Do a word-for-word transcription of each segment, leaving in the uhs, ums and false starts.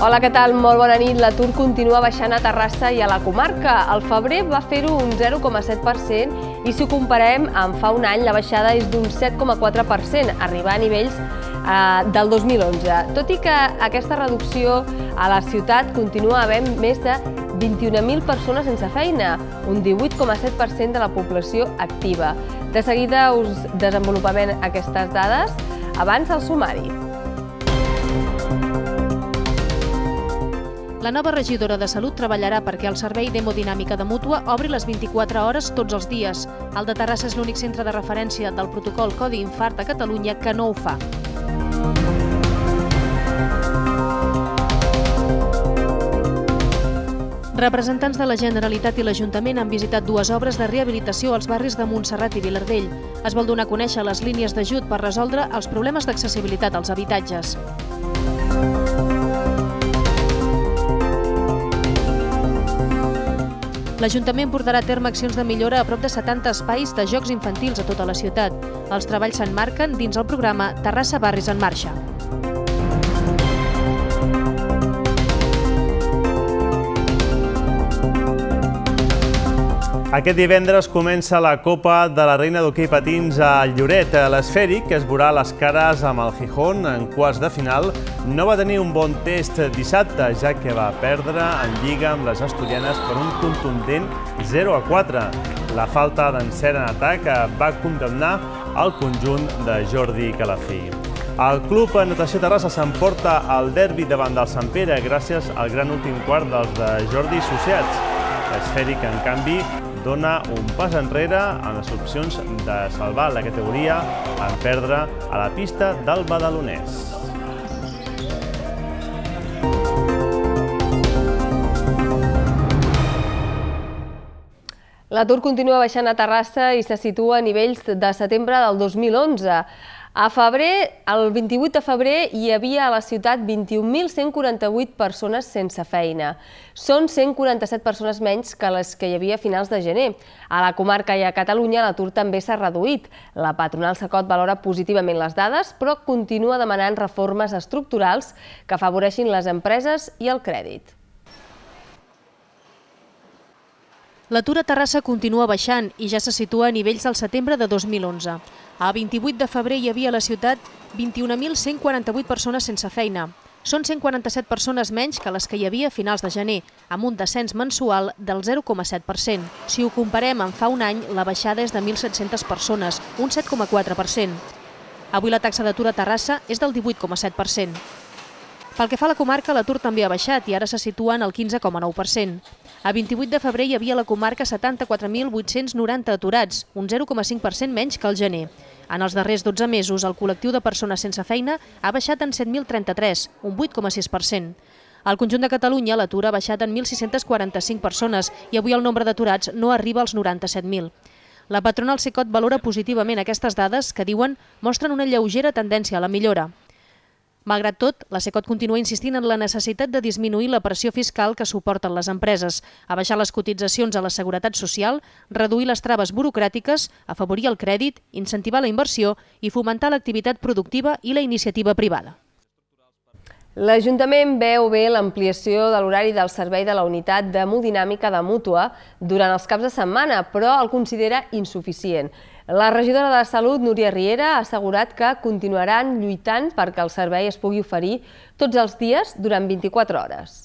Hola, què tal? Molt bona nit. L'atur continua baixant a Terrassa i a la comarca. Al febrer va fer-ho un zero coma set per cent i si ho comparem amb fa un any la baixada és d'un set coma quatre per cent, arribar a nivells del dos mil onze. Tot i que aquesta reducció a la ciutat continua havent més de vint-i-una mil persones sense feina, un divuit coma set per cent de la població activa. De seguida us desenvolupem aquestes dades. Abans el sumari. La nova regidora de Salut treballarà perquè el servei d'hemodinàmica de Mútua obri les vint-i-quatre hores tots els dies. El de Terrassa és l'únic centre de referència del protocol Codi Infart a Catalunya que no ho fa. Representants de la Generalitat i l'Ajuntament han visitat dues obres de rehabilitació als barris de Montserrat i Vilardell. Es vol donar a conèixer les línies d'ajut per resoldre els problemes d'accessibilitat als habitatges. L'Ajuntament portarà a terme accions de millora a prop de setanta espais de jocs infantils a tota la ciutat. Els treballs s'emmarquen dins el programa Terrassa Barris en Marxa. Aquest divendres comença la Copa de la Reina d'Hoquei Patins a Lloret. L'Esfèric, que es veurà les cares amb el Gijón en quarts de final, no va tenir un bon test dissabte, ja que va perdre en lliga amb les asturianes per un contundent zero a quatre. La falta d'encert en atac va condemnar el conjunt de Jordi Calafí. El Club Natació Terrassa s'emporta el derbi davant del Sant Pere gràcies al gran últim quart dels de Jordi Associats. L'Esfèric, en canvi, dona un pas enrere en les opcions de salvar la categoria en perdre a la pista del Badalonès. L'atur continua baixant a Terrassa i se situa a nivells de setembre del dos mil onze. A febrer, el vint-i-vuit de febrer, hi havia a la ciutat vint-i-un mil cent quaranta-vuit persones sense feina. Són cent quaranta-set persones menys que les que hi havia a finals de gener. A la comarca i a Catalunya l'atur també s'ha reduït. La patronal Cecot valora positivament les dades, però continua demanant reformes estructurals que afavoreixin les empreses i el crèdit. L'atur a Terrassa continua baixant i ja se situa a nivells del setembre de dos mil onze. A vint-i-vuit de febrer hi havia a la ciutat vint-i-un mil cent quaranta-vuit persones sense feina. Són cent quaranta-set persones menys que les que hi havia a finals de gener, amb un descens mensual del zero coma set per cent. Si ho comparem amb fa un any, la baixada és de mil set-centes persones, un set coma quatre per cent. Avui la taxa d'atur a Terrassa és del divuit coma set per cent. Pel que fa a la comarca, l'atur també ha baixat i ara se situa en el quinze coma nou per cent. A vint-i-vuit de febrer hi havia a la comarca setanta-quatre mil vuit-cents noranta aturats, un zero coma cinc per cent menys que al gener. En els darrers dotze mesos, el col·lectiu de persones sense feina ha baixat en set mil trenta-tres, un vuit coma sis per cent. Al conjunt de Catalunya, l'atur ha baixat en mil sis-centes quaranta-cinc persones i avui el nombre d'aturats no arriba als noranta-set mil. La patronal Cecot valora positivament aquestes dades que, diuen, mostren una lleugera tendència a la millora. Malgrat tot, la Cecot continua insistint en la necessitat de disminuir la pressió fiscal que suporten les empreses, abaixar les cotitzacions a la seguretat social, reduir les traves burocràtiques, afavorir el crèdit, incentivar la inversió i fomentar l'activitat productiva i la iniciativa privada. L'Ajuntament veu bé l'ampliació de l'horari del servei de la unitat d'hemodinàmica de Mútua durant els caps de setmana, però el considera insuficient. La regidora de Salut, Núria Riera, ha assegurat que continuaran lluitant perquè el servei es pugui oferir tots els dies durant vint-i-quatre hores.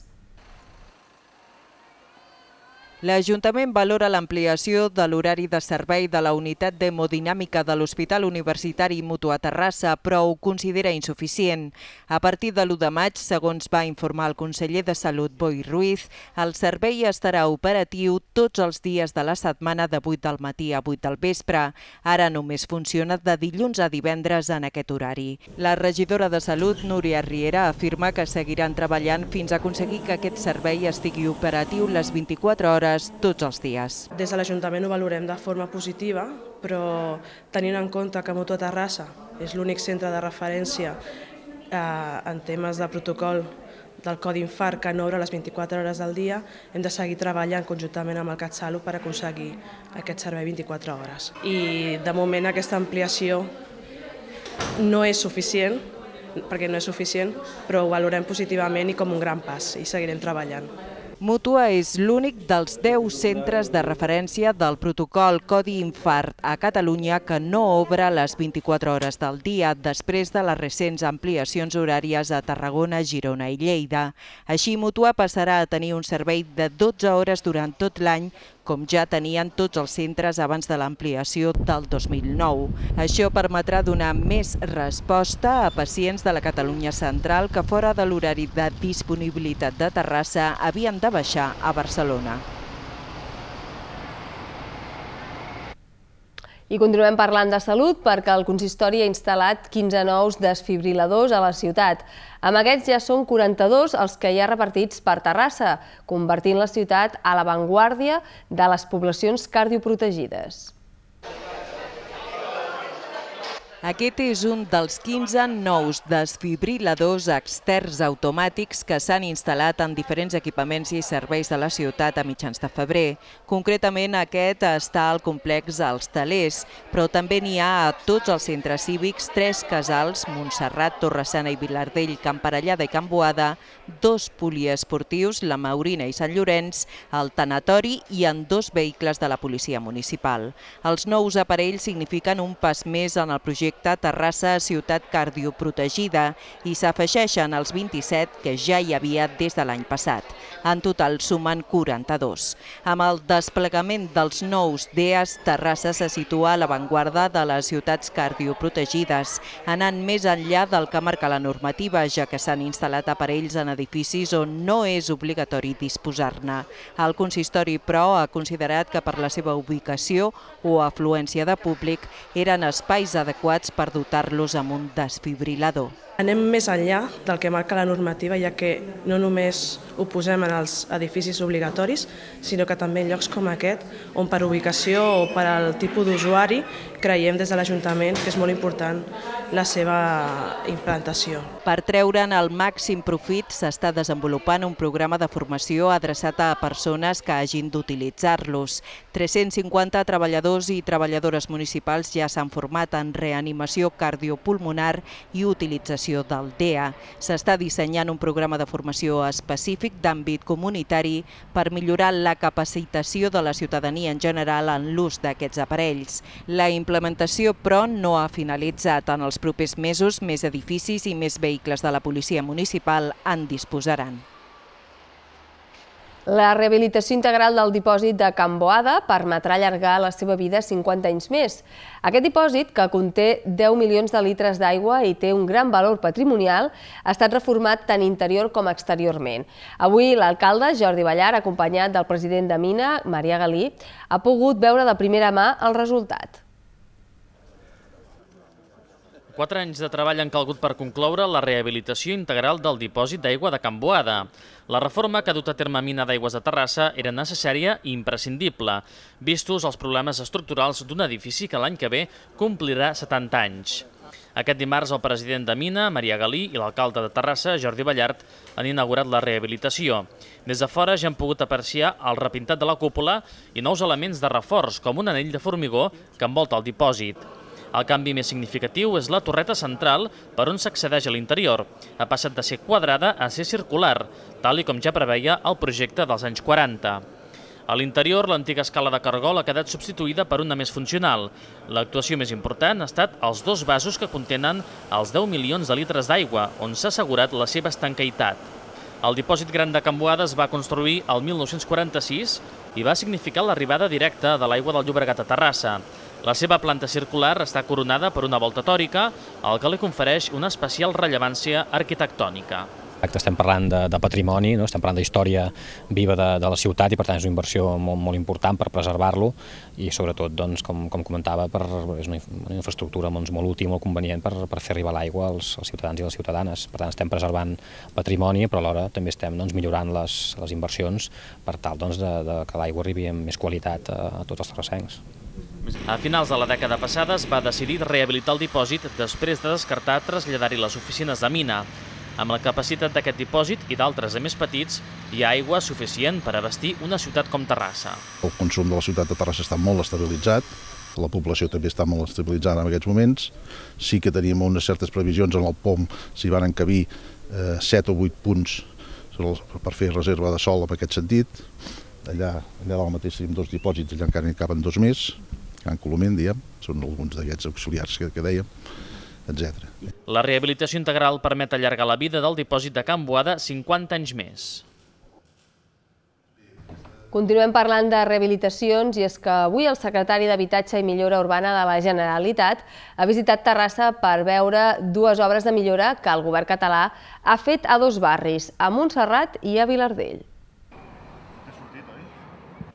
L'Ajuntament valora l'ampliació de l'horari de servei de la unitat d'hemodinàmica de l'Hospital Universitari Mútua Terrassa, però ho considera insuficient. A partir de l'u de maig, segons va informar el conseller de Salut, Boi Ruiz, el servei estarà operatiu tots els dies de la setmana de vuit del matí a vuit del vespre. Ara només funciona de dilluns a divendres en aquest horari. La regidora de Salut, Núria Riera, afirma que seguiran treballant fins a aconseguir que aquest servei estigui operatiu les vint-i-quatre hores tots els dies. Des de l'Ajuntament ho valorem de forma positiva, però tenint en compte que Mútua Terrassa és l'únic centre de referència en temes de protocol del Codi Infart que no obre les vint-i-quatre hores del dia, hem de seguir treballant conjuntament amb el CatSalut per aconseguir aquest servei vint-i-quatre hores. I de moment aquesta ampliació no és suficient, perquè no és suficient, però ho valorem positivament i com un gran pas i seguirem treballant. Mútua és l'únic dels deu centres de referència del protocol Codi Infart a Catalunya que no obre les vint-i-quatre hores del dia després de les recents ampliacions horàries a Tarragona, Girona i Lleida. Així, Mútua passarà a tenir un servei de dotze hores durant tot l'any, com ja tenien tots els centres abans de l'ampliació del dos mil nou. Això permetrà donar més resposta a pacients de la Catalunya central que fora de l'horari de disponibilitat de Terrassa havien de baixar a Barcelona. I continuem parlant de salut perquè el consistori ha instal·lat quinze nous desfibriladors a la ciutat. Amb aquests ja són quaranta-dos els que hi ha repartits per Terrassa, convertint la ciutat a l'avantguàrdia de les poblacions cardioprotegides. Aquest és un dels quinze nous desfibriladors externs automàtics que s'han instal·lat en diferents equipaments i serveis de la ciutat a mitjans de febrer. Concretament, aquest està al complex Els Telers, però també n'hi ha a tots els centres cívics, tres casals, Montserrat, Torre-sana i Vilardell, Can Parellada i Can Boada, dos poliesportius, la Maurina i Sant Llorenç, el tanatori i en dos vehicles de la policia municipal. Els nous aparells signifiquen un pas més en el projecte Terrassa Ciutat Cardioprotegida i s'afegeixen als vint-i-set que ja hi havia des de l'any passat. En total sumen quaranta-dos. Amb el desplegament dels nous D E A S, Terrassa se situa a l'avantguarda de les ciutats cardioprotegides, anant més enllà del que marca la normativa, ja que s'han instal·lat aparells en edificis on no és obligatori disposar-ne. El consistori, però, ha considerat que per la seva ubicació o afluència de públic eren espais adequats per dotar-los amb un desfibrilador. Anem més enllà del que marca la normativa, ja que no només ho posem en els edificis obligatoris, sinó que també en llocs com aquest, on per ubicació o per al tipus d'usuari, creiem des de l'Ajuntament que és molt important la seva implantació. Per treure'n el màxim profit s'està desenvolupant un programa de formació adreçat a persones que hagin d'utilitzar-los. tres-cents cinquanta treballadors i treballadores municipals ja s'han format en reanimació cardiopulmonar i utilització del D E A. S'està dissenyant un programa de formació específic d'àmbit comunitari per millorar la capacitació de la ciutadania en general en l'ús d'aquests aparells. La implementació, però, no ha finalitzat. En els propers mesos, més edificis i més vehicles de la policia municipal en disposaran. La rehabilitació integral del dipòsit de Can Boada permetrà allargar la seva vida cinquanta anys més. Aquest dipòsit, que conté deu milions de litres d'aigua i té un gran valor patrimonial, ha estat reformat tant interior com exteriorment. Avui l'alcalde, Jordi Ballar, acompanyat del president de Mina, Marià Galí, ha pogut veure de primera mà el resultat. Quatre anys de treball han calgut per concloure la rehabilitació integral del dipòsit d'aigua de Can Boada. La reforma que ha dut a terme Mina d'Aigües de Terrassa era necessària i imprescindible, vistos els problemes estructurals d'un edifici que l'any que ve complirà setanta anys. Aquest dimarts el president de Mina, Marià Galí, i l'alcalde de Terrassa, Jordi Ballart, han inaugurat la rehabilitació. Des de fora ja han pogut apreciar el repintat de la cúpula i nous elements de reforç, com un anell de formigó que envolta el dipòsit. El canvi més significatiu és la torreta central per on s'accedeix a l'interior. Ha passat de ser quadrada a ser circular, tal i com ja preveia el projecte dels anys quaranta. A l'interior, l'antiga escala de cargol ha quedat substituïda per una més funcional. L'actuació més important ha estat els dos vasos que contenen els deu milions de litres d'aigua, on s'ha assegurat la seva estanqueitat. El dipòsit gran de Can Boada es va construir el mil nou-cents quaranta-sis i va significar l'arribada directa de l'aigua del Llobregat a Terrassa. La seva planta circular està coronada per una volta tòrica, el que li confereix una especial rellevància arquitectònica. Estem parlant de, de patrimoni, no? Estem parlant d'història viva de, de la ciutat i per tant és una inversió molt, molt important per preservar-lo i sobretot, doncs, com, com comentava, per, és una, una infraestructura doncs, molt útil, molt convenient per, per fer arribar l'aigua als, als ciutadans i les ciutadanes. Per tant, estem preservant patrimoni, però alhora també estem doncs, millorant les, les inversions per tal doncs, de, de que l'aigua arribi amb més qualitat a, a tots els terrassencs. A finals de la dècada passada es va decidir rehabilitar el dipòsit després de descartar traslladar-hi les oficines de Mina. Amb la capacitat d'aquest dipòsit i d'altres de més petits, hi ha aigua suficient per abastir una ciutat com Terrassa. El consum de la ciutat de Terrassa està molt estabilitzat, la població també està molt estabilitzada en aquests moments. Sí que teníem unes certes previsions en el P O M, s'hi van encabir set o vuit punts per fer reserva de sol en aquest sentit. Allà, allà dalt mateix tenim dos dipòsits, allà encara n'hi caben dos més, Can Coloment, diguem, són alguns d'aquests auxiliars que, que dèiem, etcètera. La rehabilitació integral permet allargar la vida del dipòsit de Can Boada cinquanta anys més. Continuem parlant de rehabilitacions i és que avui el secretari d'Habitatge i Millora Urbana de la Generalitat ha visitat Terrassa per veure dues obres de millora que el govern català ha fet a dos barris, a Montserrat i a Vilardell.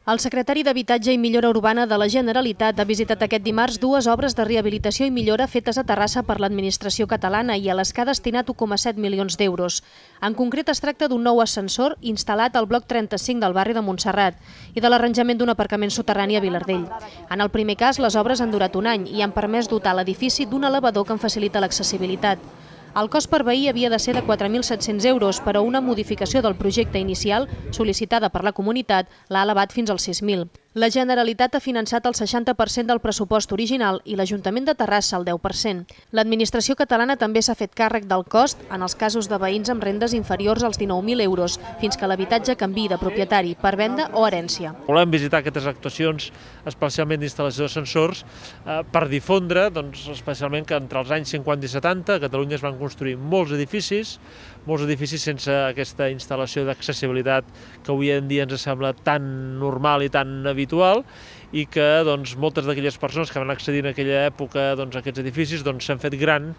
El secretari d'Habitatge i Millora Urbana de la Generalitat ha visitat aquest dimarts dues obres de rehabilitació i millora fetes a Terrassa per l'administració catalana i a les que ha destinat u coma set milions d'euros. En concret es tracta d'un nou ascensor instal·lat al bloc trenta-cinc del barri de Montserrat i de l'arranjament d'un aparcament soterrani a Vilardell. En el primer cas, les obres han durat un any i han permès dotar l'edifici d'un elevador que en facilita l'accessibilitat. El cost per veí havia de ser de quatre mil set-cents euros, però una modificació del projecte inicial, sol·licitada per la comunitat, l'ha elevat fins als sis mil. La Generalitat ha finançat el seixanta per cent del pressupost original i l'Ajuntament de Terrassa el deu per cent. L'administració catalana també s'ha fet càrrec del cost en els casos de veïns amb rendes inferiors als dinou mil euros, fins que l'habitatge canviï de propietari per venda o herència. Volem visitar aquestes actuacions, especialment d'instal·lació d'ascensors, per difondre, especialment que entre els anys cinquanta i setanta a Catalunya es van construir molts edificis, molts edificis sense aquesta instal·lació d'accessibilitat que avui en dia ens sembla tan normal i tan habitual i que moltes d'aquelles persones que van accedir en aquella època a aquests edificis s'han fet gran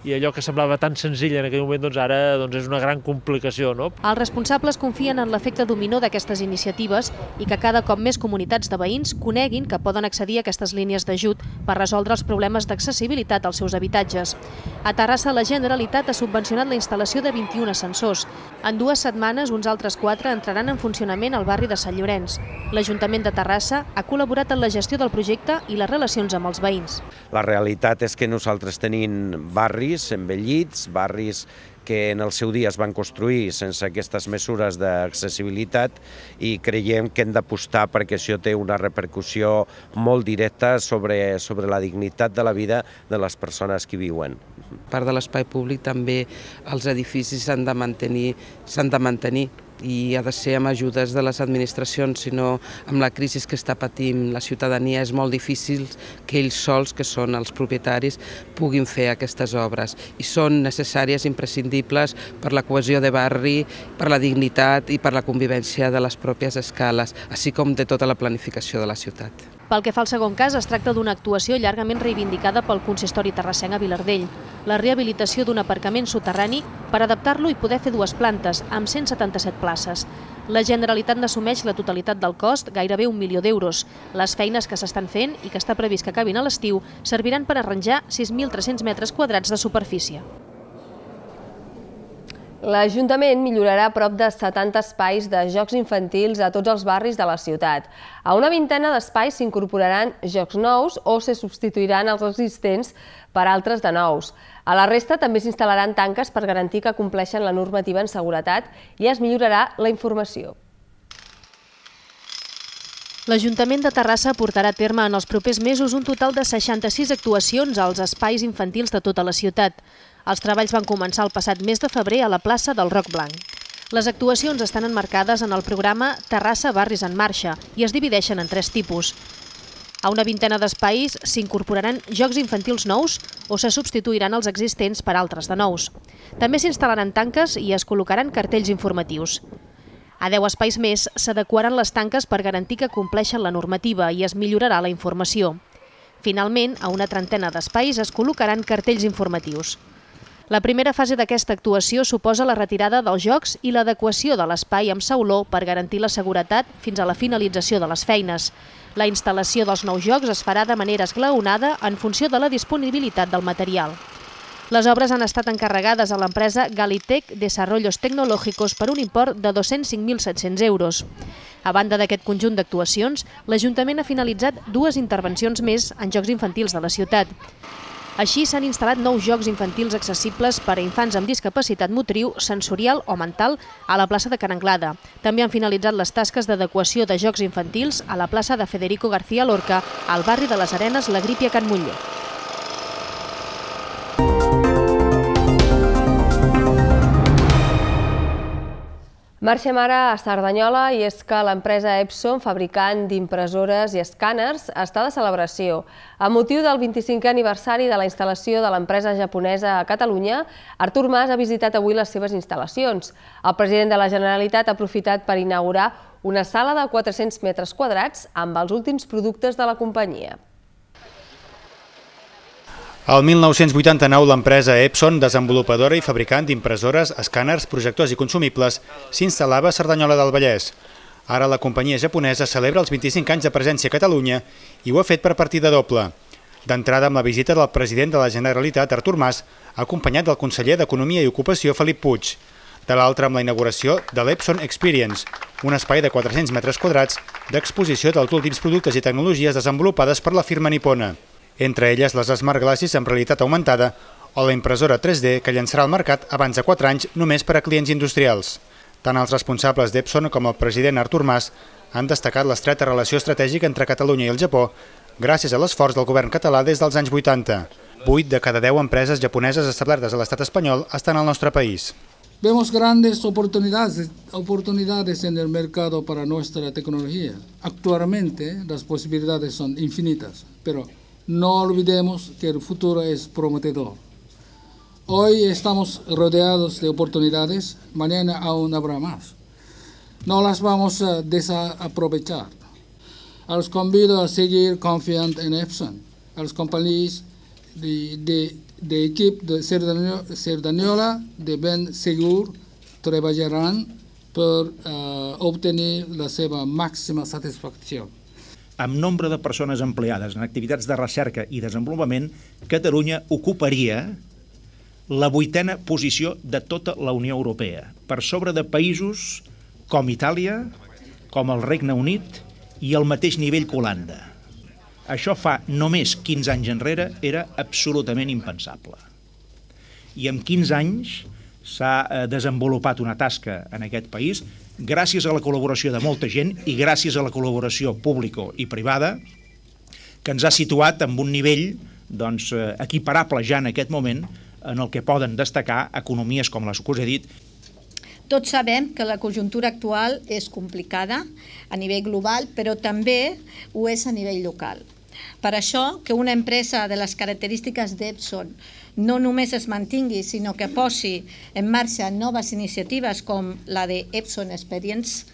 i allò que semblava tan senzill en aquell moment ara és una gran complicació. Els responsables confien en l'efecte dominó d'aquestes iniciatives i que cada cop més comunitats de veïns coneguin que poden accedir a aquestes línies d'ajut per resoldre els problemes d'accessibilitat als seus habitatges. A Terrassa, la Generalitat ha subvencionat la instal·lació de vint-i-un ascensors. En dues setmanes, uns altres quatre entraran en funcionament al barri de Sant Llorenç. L'Ajuntament de Terrassa ha col·laborat en la gestió del projecte i les relacions amb els veïns. La realitat és que nosaltres tenim barris envellits, barris que en el seu dia es van construir sense aquestes mesures d'accessibilitat i creiem que hem d'apostar perquè això té una repercussió molt directa sobre, sobre la dignitat de la vida de les persones que viuen. Part de l'espai públic també els edificis s'han de mantenir, s'han de mantenir i ha de ser amb ajudes de les administracions, sinó amb la crisi que està patint la ciutadania és molt difícil que ells sols, que són els propietaris, puguin fer aquestes obres. I són necessàries, imprescindibles per la cohesió de barri, per la dignitat i per la convivència de les pròpies escales, així com de tota la planificació de la ciutat. Pel que fa al segon cas, es tracta d'una actuació llargament reivindicada pel consistori terrassenc a Vilardell, la rehabilitació d'un aparcament soterrani per adaptar-lo i poder fer dues plantes, amb cent setanta-set places. La Generalitat n'assumeix la totalitat del cost, gairebé un milió d'euros. Les feines que s'estan fent i que està previst que acabin a l'estiu serviran per arranjar sis mil tres-cents metres quadrats de superfície. L'Ajuntament millorarà prop de setanta espais de jocs infantils a tots els barris de la ciutat. A una vintena d'espais s'incorporaran jocs nous o se substituiran els existents per altres de nous. A la resta també s'instal·laran tanques per garantir que compleixen la normativa en seguretat i es millorarà la informació. L'Ajuntament de Terrassa portarà a terme en els propers mesos un total de seixanta-sis actuacions als espais infantils de tota la ciutat. Els treballs van començar el passat mes de febrer a la plaça del Roc Blanc. Les actuacions estan emmarcades en el programa Terrassa Barris en Marxa i es divideixen en tres tipus. A una vintena d'espais s'incorporaran jocs infantils nous o se substituiran els existents per altres de nous. També s'instal·laran tanques i es col·locaran cartells informatius. A deu espais més s'adequaran les tanques per garantir que compleixen la normativa i es millorarà la informació. Finalment, a una trentena d'espais es col·locaran cartells informatius. La primera fase d'aquesta actuació suposa la retirada dels jocs i l'adequació de l'espai amb sauló per garantir la seguretat fins a la finalització de les feines. La instal·lació dels nous jocs es farà de manera esglaonada en funció de la disponibilitat del material. Les obres han estat encarregades a l'empresa Galitec Desarrollos Tecnológicos per un import de dos-cents cinc mil set-cents euros. A banda d'aquest conjunt d'actuacions, l'Ajuntament ha finalitzat dues intervencions més en jocs infantils de la ciutat. Així s'han instal·lat nous jocs infantils accessibles per a infants amb discapacitat motriu, sensorial o mental a la plaça de Can Anglada. També han finalitzat les tasques d'adequació de jocs infantils a la plaça de Federico García Lorca, al barri de les Arenes, la Grípia, Can Montller. Marxem ara a Cerdanyola i és que l'empresa Epson, fabricant d'impressores i escàners, està de celebració. A motiu del vint-i-cinquè aniversari de la instal·lació de l'empresa japonesa a Catalunya, Artur Mas ha visitat avui les seves instal·lacions. El president de la Generalitat ha aprofitat per inaugurar una sala de quatre-cents metres quadrats amb els últims productes de la companyia. El mil nou-cents vuitanta-nou, l'empresa Epson, desenvolupadora i fabricant d'impressores, escàners, projectors i consumibles, s'instal·lava a Cerdanyola del Vallès. Ara la companyia japonesa celebra els vint-i-cinc anys de presència a Catalunya i ho ha fet per partida doble. D'entrada amb la visita del president de la Generalitat, Artur Mas, acompanyat del conseller d'Economia i Ocupació, Felip Puig. De l'altra amb la inauguració de l'Epson Experience, un espai de quatre-cents metres quadrats d'exposició dels últims productes i tecnologies desenvolupades per la firma nipona. Entre elles les Smart Glasses amb realitat augmentada o la impressora tres D que llançarà al mercat abans de quatre anys només per a clients industrials. Tant els responsables d'Epson com el president Artur Mas han destacat l'estreta relació estratègica entre Catalunya i el Japó gràcies a l'esforç del govern català des dels anys vuitanta. Vuit de cada deu empreses japoneses establertes a l'estat espanyol estan al nostre país. Vemos grandes oportunidades, oportunidades en el mercado para nuestra tecnología. Actualmente las posibilidades son infinitas, pero no olvidemos que el futuro es prometedor. Hoy estamos rodeados de oportunidades, mañana aún habrá más. No las vamos a desaprovechar. Los convido a seguir confiando en Epson. A las compañías de, de, de equipo de Cerdanyola de ben segur treballarán per uh, obtenir la seva màxima satisfacció. Amb nombre de persones empleades en activitats de recerca i desenvolupament, Catalunya ocuparia la vuitena posició de tota la Unió Europea, per sobre de països com Itàlia, com el Regne Unit i el mateix nivell que Holanda. Això fa només quinze anys enrere era absolutament impensable. I en quinze anys s'ha desenvolupat una tasca en aquest país gràcies a la col·laboració de molta gent i gràcies a la col·laboració pública i privada que ens ha situat en un nivell doncs, equiparable ja en aquest moment en el que poden destacar economies com les que us he dit. Tots sabem que la conjuntura actual és complicada a nivell global, però també ho és a nivell local. Per això, que una empresa de les característiques d'Epson no només es mantingui, sinó que posi en marxa noves iniciatives com la de Epson Experience,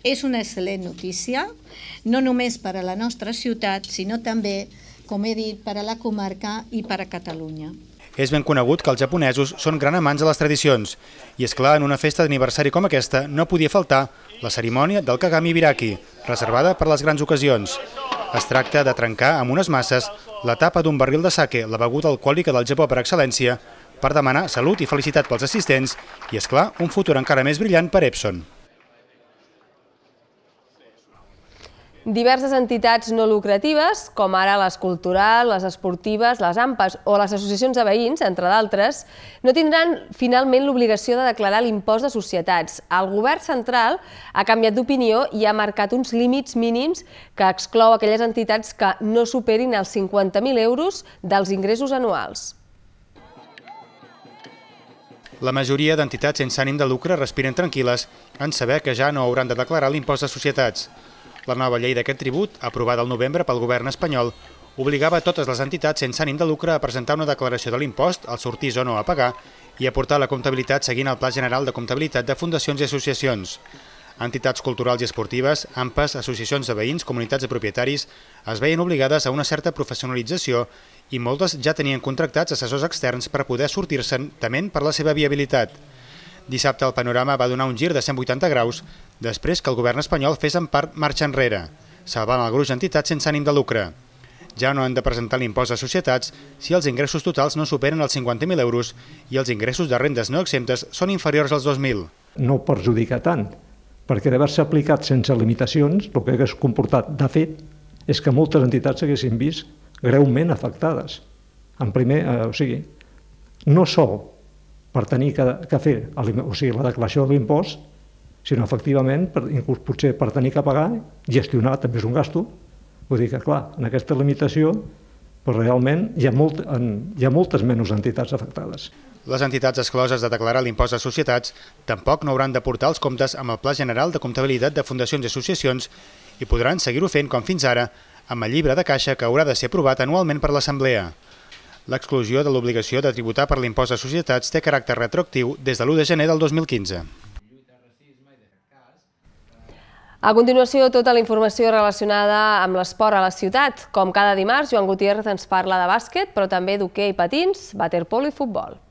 és una excel·lent notícia, no només per a la nostra ciutat, sinó també, com he dit, per a la comarca i per a Catalunya. És ben conegut que els japonesos són gran amants de les tradicions i, és clar, en una festa d'aniversari com aquesta no podia faltar la cerimònia del Kagami Biraki, reservada per les grans ocasions. Es tracta de trencar amb unes masses la tapa d'un barril de sake, la beguda alcohòlica del Japó per excel·lència, per demanar salut i felicitat pels assistents i, és clar, un futur encara més brillant per Epson. Diverses entitats no lucratives, com ara les culturals, les esportives, les AMPAs o les associacions de veïns, entre d'altres, no tindran finalment l'obligació de declarar l'impost de societats. El govern central ha canviat d'opinió i ha marcat uns límits mínims que exclou aquelles entitats que no superin els cinquanta mil euros dels ingressos anuals. La majoria d'entitats sense ànim de lucre respiren tranquil·les en saber que ja no hauran de declarar l'impost de societats. La nova llei d'aquest tribut, aprovada al novembre pel govern espanyol, obligava totes les entitats sense ànim de lucre a presentar una declaració de l'impost, al sortís o no a pagar, i aportar la comptabilitat seguint el Pla General de Comptabilitat de Fundacions i Associacions. Entitats culturals i esportives, AMPAs, associacions de veïns, comunitats de propietaris, es veien obligades a una certa professionalització i moltes ja tenien contractats assessors externs per poder sortir-se'n tement per la seva viabilitat. Dissabte el panorama va donar un gir de cent vuitanta graus després que el govern espanyol fes en part marxa enrere, salvant el gruix d'entitats sense ànim de lucre. Ja no han de presentar l'impost de societats si els ingressos totals no superen els cinquanta mil euros i els ingressos de rendes no exemptes són inferiors als dos mil. No perjudica tant, perquè d'haver-se aplicat sense limitacions, el que hagués comportat, de fet, és que moltes entitats s'haguessin vist greument afectades. En primer, o sigui, no sol per tenir que fer o sigui, la declaració de l'impost, sinó efectivament, inclús potser per tenir que pagar, gestionar també és un gasto. Vull dir que, clar, en aquesta limitació, però realment hi ha, molt, hi ha moltes menys entitats afectades. Les entitats excloses de declarar l'impost de societats tampoc no hauran de portar els comptes amb el Pla General de Comptabilitat de Fundacions i Associacions i podran seguir-ho fent com fins ara amb el llibre de caixa que haurà de ser aprovat anualment per l'Assemblea. L'exclusió de l'obligació de tributar per l'impost de societats té caràcter retroactiu des de l'u de gener del dos mil quinze. A continuació, tota la informació relacionada amb l'esport a la ciutat. Com cada dimarts, Joan Gutiérrez ens parla de bàsquet, però també d'hoquei patins, waterpolo i futbol.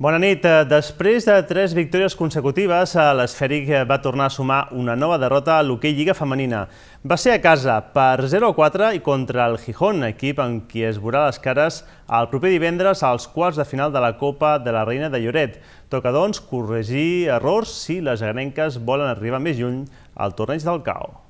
Bona nit. Després de tres victòries consecutives, l'Esfèric va tornar a sumar una nova derrota a l'hoquei Lliga Femenina. Va ser a casa per zero a quatre i contra el Gijón, equip amb qui es veurà les cares el proper divendres als quarts de final de la Copa de la Reina de Lloret. Toca, doncs, corregir errors si les agrenques volen arribar més lluny al torneig del C A O.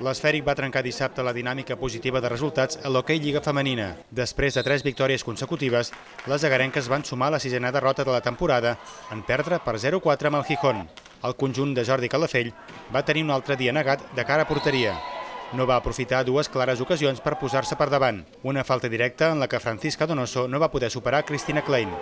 L'Esfèric va trencar dissabte la dinàmica positiva de resultats a l'hoquei Lliga Femenina. Després de tres victòries consecutives, les agarenques van sumar la sisena derrota de la temporada en perdre per zero a quatre amb el Gijón. El conjunt de Jordi Calafell va tenir un altre dia negat de cara a porteria. No va aprofitar dues clares ocasions per posar-se per davant. Una falta directa en la que Francisca Donoso no va poder superar Cristina Klein.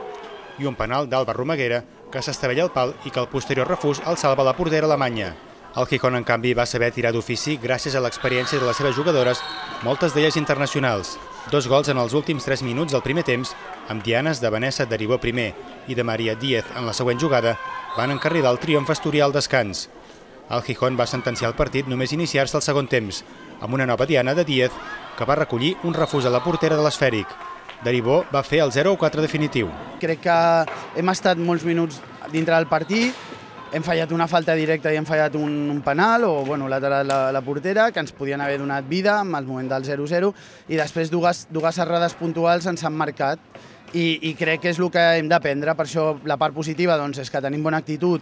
I un penal d'Alba Romaguera que s'estavella al pal i que el posterior refús el salva la portera alemanya. El Gijón, en canvi, va saber tirar d'ofici gràcies a l'experiència de les seves jugadores, moltes d'elles internacionals. Dos gols en els últims tres minuts del primer temps, amb dianes de Vanessa Deribó primer i de Maria Díez en la següent jugada, van encarrilar el triomf asturià al descans. El Gijón va sentenciar el partit només iniciar-se al segon temps, amb una nova diana de Díez, que va recollir un refús a la portera de l'Esfèric. Deribó va fer el zero a quatre definitiu. Crec que hem estat molts minuts dintre del partit, hem fallat una falta directa i hem fallat un, un penal o bueno, lateral la, la portera, que ens podien haver donat vida en el moment del zero a zero i després dues, dues errades puntuals ens han marcat i, i crec que és el que hem d'aprendre. Per això la part positiva doncs, és que tenim bona actitud,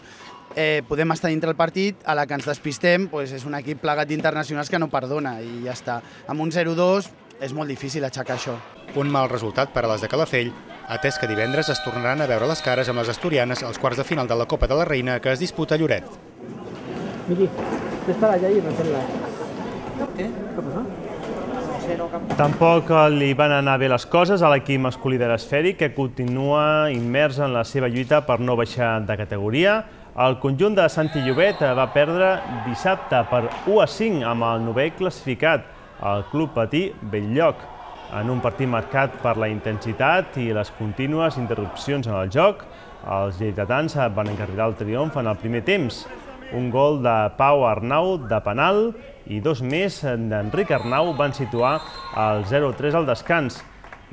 eh, podem estar dintre el partit, a la que ens despistem doncs, és un equip plegat d'internacionals que no perdona i ja està. Amb un zero a dos és molt difícil aixecar això. Un mal resultat per a les de Calafell, atès que divendres es tornaran a veure les cares amb les asturianes als quarts de final de la Copa de la Reina que es disputa a Lloret. Miri, t'està allà i refer-la. Eh? Què passa? Tampoc li van anar bé les coses a l'equip masculí de l'Esfèric, que continua immers en la seva lluita per no baixar de categoria. El conjunt de Santi Llobet va perdre dissabte per u a cinc amb el novè classificat, el Club Patí Belllloc, en un partit marcat per la intensitat i les contínues interrupcions en el joc. Els lleidatans van encarrilar el triomf en el primer temps. Un gol de Pau Arnau de penal i dos més d'Enric Arnau van situar el zero a tres al descans.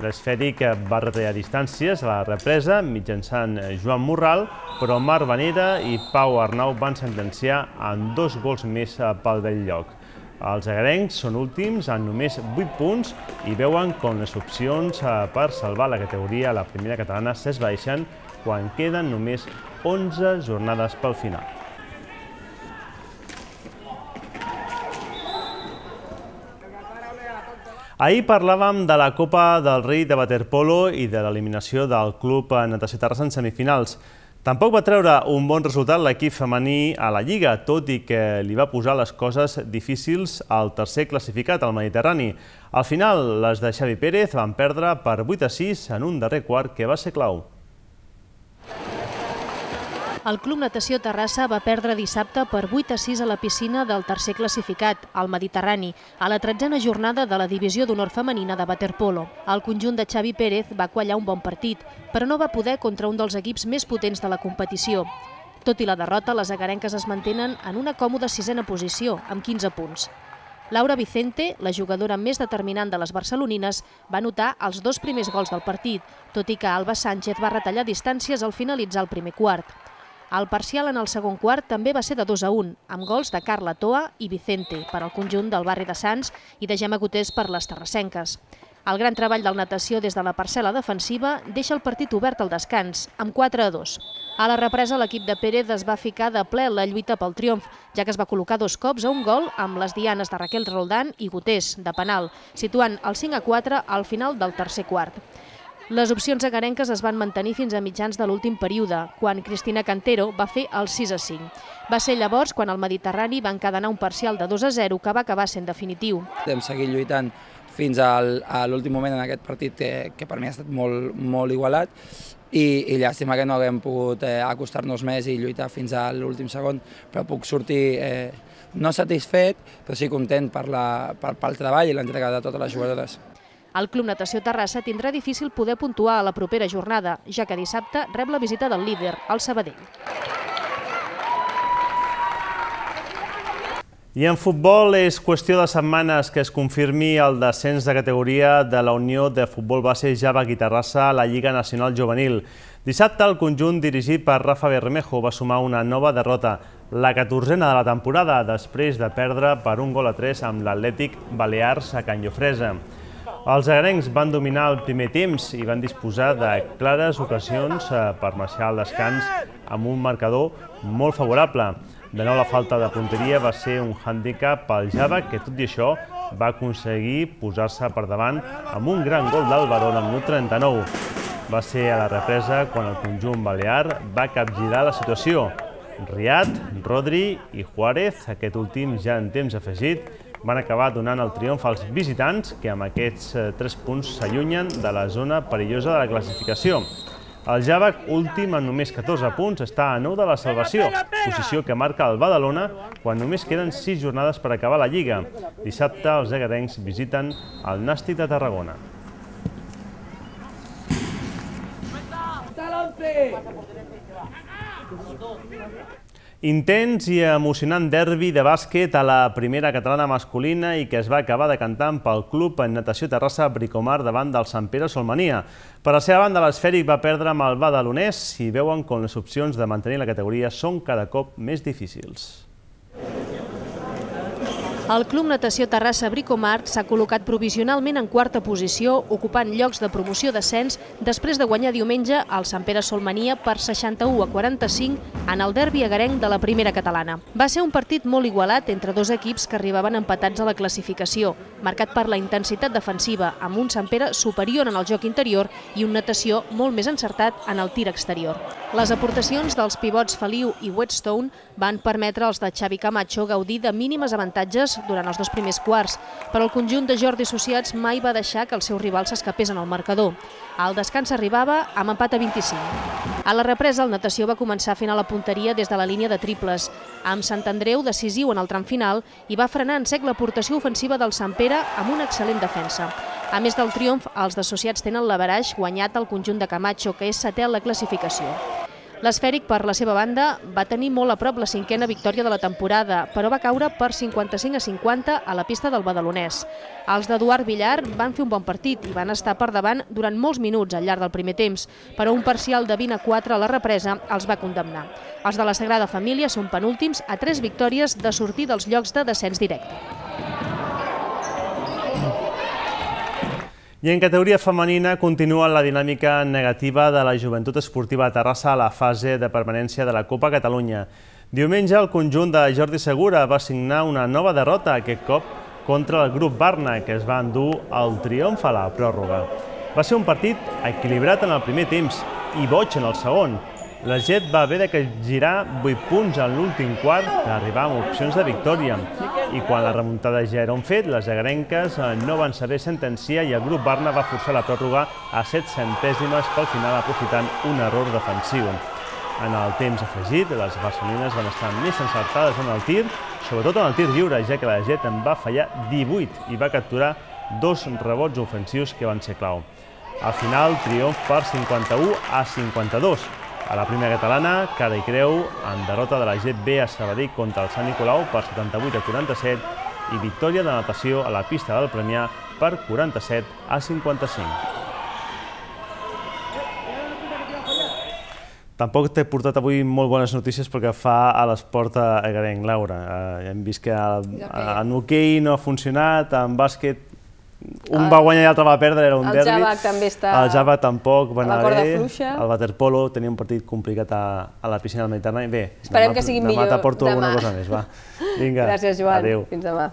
L'Esfèric va retallar distàncies a la represa mitjançant Joan Morral, però Marc Vanera i Pau Arnau van sentenciar amb dos gols més pel Belllloc. Els agarencs són últims amb només vuit punts i veuen com les opcions per salvar la categoria a la primera catalana s'esvaeixen quan queden només onze jornades pel final. Ahir parlàvem de la Copa del Rei de waterpolo i de l'eliminació del Club Natació Terrassa en semifinals. Tampoc va treure un bon resultat l'equip femení a la Lliga, tot i que li va posar les coses difícils al tercer classificat, al Mediterrani. Al final, les de Xavi Pérez van perdre per vuit a sis en un darrer quart que va ser clau. El Club Natació Terrassa va perdre dissabte per vuit a sis a la piscina del tercer classificat, al Mediterrani, a la tretzena jornada de la divisió d'honor femenina de waterpolo. El conjunt de Xavi Pérez va quallar un bon partit, però no va poder contra un dels equips més potents de la competició. Tot i la derrota, les agarenques es mantenen en una còmoda sisena posició, amb quinze punts. Laura Vicente, la jugadora més determinant de les barcelonines, va anotar els dos primers gols del partit, tot i que Alba Sánchez va retallar distàncies al finalitzar el primer quart. El parcial en el segon quart també va ser de dos a un, amb gols de Carla Toa i Vicente per al conjunt del barri de Sants i de Gemma Gotés per les terrassenques. El gran treball del natació des de la parcel·la defensiva deixa el partit obert al descans, amb quatre a dos. A la represa, l'equip de Pérez es va ficar de ple en la lluita pel triomf, ja que es va col·locar dos cops a un gol amb les dianes de Raquel Roldán i Gutés, de penal, situant el cinc a quatre al final del tercer quart. Les opcions agarenques es van mantenir fins a mitjans de l'últim període, quan Cristina Cantero va fer el sis a cinc. Va ser llavors quan el Mediterrani va encadenar un parcial de dos a zero que va acabar sent definitiu. Hem seguit lluitant fins a l'últim moment en aquest partit que per mi ha estat molt igualat i llàstima que no haguem pogut acostar-nos més i lluitar fins a l'últim segon, però puc sortir no satisfet, però sí content pel treball i l'entrega de totes les jugadores. El Club Natació Terrassa tindrà difícil poder puntuar a la propera jornada, ja que dissabte rep la visita del líder, el Sabadell. I en futbol és qüestió de setmanes que es confirmi el descens de categoria de la Unió de Futbol Base Javac i Terrassa a la Lliga Nacional Juvenil. Dissabte el conjunt dirigit per Rafa Bermejo va sumar una nova derrota, la catorzena de la temporada, després de perdre per un gol a tres amb l'Atlètic Balears a Can Llofresa. Els agarencs van dominar el primer temps i van disposar de clares ocasions per marxar al descans amb un marcador molt favorable. De nou, la falta de punteria va ser un hàndicap pel Javac, que tot i això va aconseguir posar-se per davant amb un gran gol d'Albarón al minut trenta-nou. Va ser a la represa quan el conjunt balear va capgirar la situació. Riad, Rodri i Juárez, aquest últim ja en temps afegit, van acabar donant el triomf als visitants, que amb aquests tres punts s'allunyen de la zona perillosa de la classificació. El Javac, últim amb només catorze punts, està a nou de la salvació, posició que marca el Badalona quan només queden sis jornades per acabar la Lliga. Dissabte els agarencs visiten el Nàstic de Tarragona. Intens i emocionant derbi de bàsquet a la primera catalana masculina i que es va acabar decantant pel club en natació Terrassa Bricomar davant del Sant Pere Solmania. Per la seva banda, l'Esfèric va perdre amb el badalonès i veuen com les opcions de mantenir la categoria són cada cop més difícils. El Club Natació Terrassa Bricomar s'ha col·locat provisionalment en quarta posició, ocupant llocs de promoció d'ascens després de guanyar diumenge al Sant Pere Solmania per seixanta-u a quaranta-cinc en el derbi agarenc de la primera catalana. Va ser un partit molt igualat entre dos equips que arribaven empatats a la classificació, marcat per la intensitat defensiva, amb un Sant Pere superior en el joc interior i un Natació molt més encertat en el tir exterior. Les aportacions dels pivots Feliu i Whetstone van permetre als de Xavi Camacho gaudir de mínimes avantatges durant els dos primers quarts, però el conjunt de Jordi Associats mai va deixar que el seu rival s'escapés en el marcador. El descans arribava amb empat a vint-i-cinc. A la represa, el Natació va començar fent a la punteria des de la línia de triples, amb Sant Andreu decisiu en el tram final i va frenar en sec l'aportació ofensiva del Sant Pere amb una excel·lent defensa. A més del triomf, els d'associats tenen l'averaix guanyat al conjunt de Camacho, que és setè en la classificació. L'Esfèric, per la seva banda, va tenir molt a prop la cinquena victòria de la temporada, però va caure per cinquanta-cinc a cinquanta a la pista del badalonès. Els d'Eduard Villar van fer un bon partit i van estar per davant durant molts minuts al llarg del primer temps, però un parcial de vint a quatre a la represa els va condemnar. Els de la Sagrada Família són penúltims a tres victòries de sortir dels llocs de descens directe. I en categoria femenina continua la dinàmica negativa de la Joventut Esportiva de Terrassa a la fase de permanència de la Copa Catalunya. Diumenge el conjunt de Jordi Segura va signar una nova derrota, aquest cop contra el grup Barna, que es va endur el triomf a la pròrroga. Va ser un partit equilibrat en el primer temps i boig en el segon. La Jet va haver de girar vuit punts en l'últim quart per arribar amb opcions de victòria. I quan la remuntada ja era un fet, les agarenques no van saber sentenciar i el grup Barna va forçar la pròrroga a set centèsimes pel final, aprofitant un error defensiu. En el temps afegit, les barcelonines van estar més encertades en el tir, sobretot en el tir lliure, ja que la Jet en va fallar divuit i va capturar dos rebots ofensius que van ser clau. Al final, triomf per cinquanta-u a cinquanta-dos. A la primera catalana, cara i creu, en derrota de la Jet B a Sabadell contra el Sant Nicolau per setanta-vuit a quaranta-set i victòria de natació a la pista del Premià per quaranta-set a cinquanta-cinc. Tampoc t'he portat avui molt bones notícies perquè fa a l'esport agarenc, Laura. Hem vist que en hoquei no ha funcionat, en bàsquet un va guanyar i l'altre va perdre, era un derbi. El Javac també està... El Javac tampoc va anar bé. El waterpolo tenia un partit complicat a la piscina del Mediterrani. Bé, esperem que sigui millor demà t'aporto alguna cosa més, va. Vinga, gràcies, Joan. Adéu. Fins demà.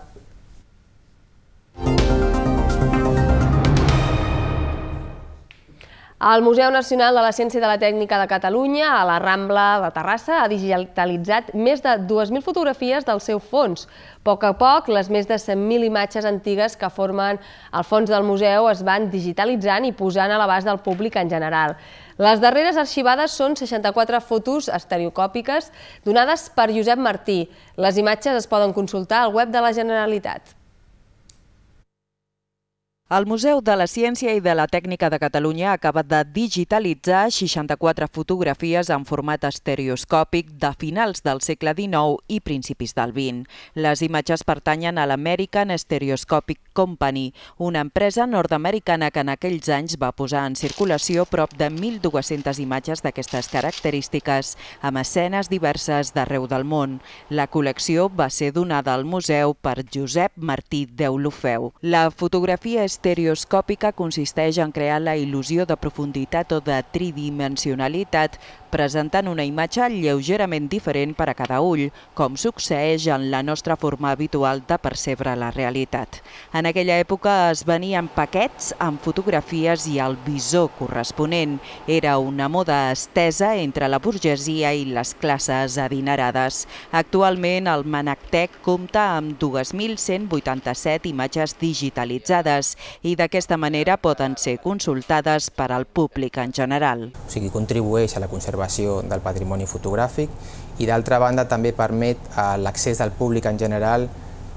El Museu Nacional de la Ciència i de la Tècnica de Catalunya, a la Rambla de Terrassa, ha digitalitzat més de dues mil fotografies del seu fons. A poc a poc, les més de cent mil imatges antigues que formen el fons del museu es van digitalitzant i posant a l'abast del públic en general. Les darreres arxivades són seixanta-quatre fotos estereocòpiques donades per Josep Martí. Les imatges es poden consultar al web de la Generalitat. El Museu de la Ciència i de la Tècnica de Catalunya acaba de digitalitzar seixanta-quatre fotografies en format estereoscòpic de finals del segle dinou i principis del vint. Les imatges pertanyen a l'American Stereoscopic Company, una empresa nord-americana que en aquells anys va posar en circulació prop de mil dues-centes imatges d'aquestes característiques, amb escenes diverses d'arreu del món. La col·lecció va ser donada al museu per Josep Martí Deulofeu. La fotografia estereoscòpica consisteix en crear la il·lusió de profunditat o de tridimensionalitat, presentant una imatge lleugerament diferent per a cada ull, com succeeix en la nostra forma habitual de percebre la realitat. En aquella època es venien paquets amb fotografies i el visor corresponent. Era una moda estesa entre la burgesia i les classes adinerades. Actualment el Manactec compta amb dues mil cent vuitanta-set imatges digitalitzades i d'aquesta manera poden ser consultades per al públic en general. O sigui, contribueix a la conservació del patrimoni fotogràfic i d'altra banda també permet l'accés del públic en general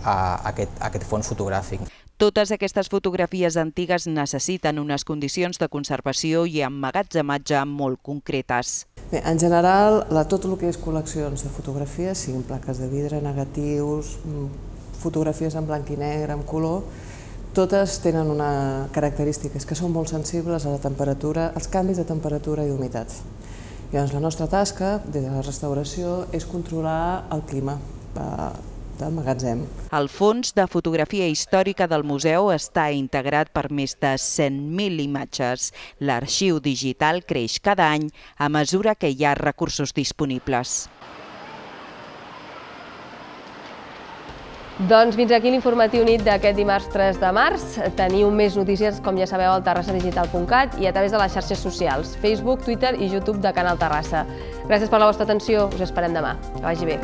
a aquest, a aquest fons fotogràfic. Totes aquestes fotografies antigues necessiten unes condicions de conservació i emmagatzematge molt concretes. Bé, en general, la, tot el que és col·leccions de fotografies, siguin plaques de vidre, negatius, fotografies en blanc i negre, en color, totes tenen una característica, és que són molt sensibles a la temperatura, als canvis de temperatura i d'humitat. Llavors, la nostra tasca des de la restauració és controlar el clima del magatzem. El fons de fotografia històrica del museu està integrat per més de cent mil imatges. L'arxiu digital creix cada any a mesura que hi ha recursos disponibles. Doncs fins aquí l'informatiu nit d'aquest dimarts tres de març. Teniu més notícies, com ja sabeu, al terrassa digital punt cat i a través de les xarxes socials, Facebook, Twitter i YouTube de Canal Terrassa. Gràcies per la vostra atenció, us esperem demà. Que vagi bé.